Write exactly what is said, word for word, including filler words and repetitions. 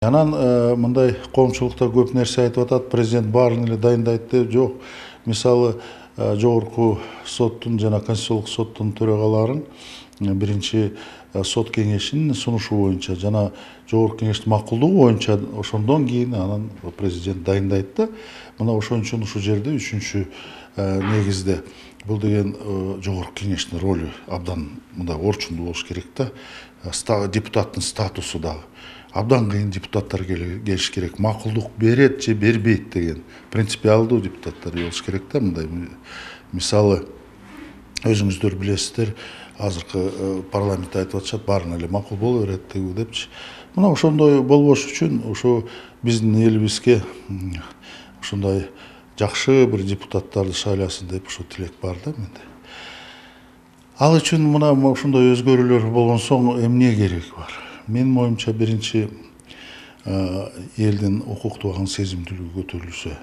Анан мындай коомчулукта көп нерсе айтып атат, президент баарын эле дайындайт деп. Жок. Мисалы, жогорку соттун жана конституциялык соттун төрагаларын биринчи сот кеңешинин сунушу боюнча жана жогорку кеңештин макулдугу боюнча ошондон кийин анан президент дайындайт да. Мына ошон үчүн ушул жерде үчүнчү негизде бул деген жогорку кеңештин ролу абдан мындай орчундуу болуш керек да. Депутаттын статусу дагы абдан кыйын депутаттар келиш керек. Макулдук берет же бербейт деген принципиалдуу депутаттар болуш керек да. Мындай мисалы өзүңүздөр билесиздер, азыркы парламентте айтып атышат, баарына эле макул боло берет депчи. Мына ошондой болбош үчүн ошо биздин элибизге ушундай жакшы бир депутаттарды шайласын деп ушул тилек бар да менде. Ал үчүн мына ушундай өзгөрүүлөр болгон соң эмне кереги бар? Менин оюмча биринчи элдин укуктуу сезимдүүлүгү көтөрүлсө.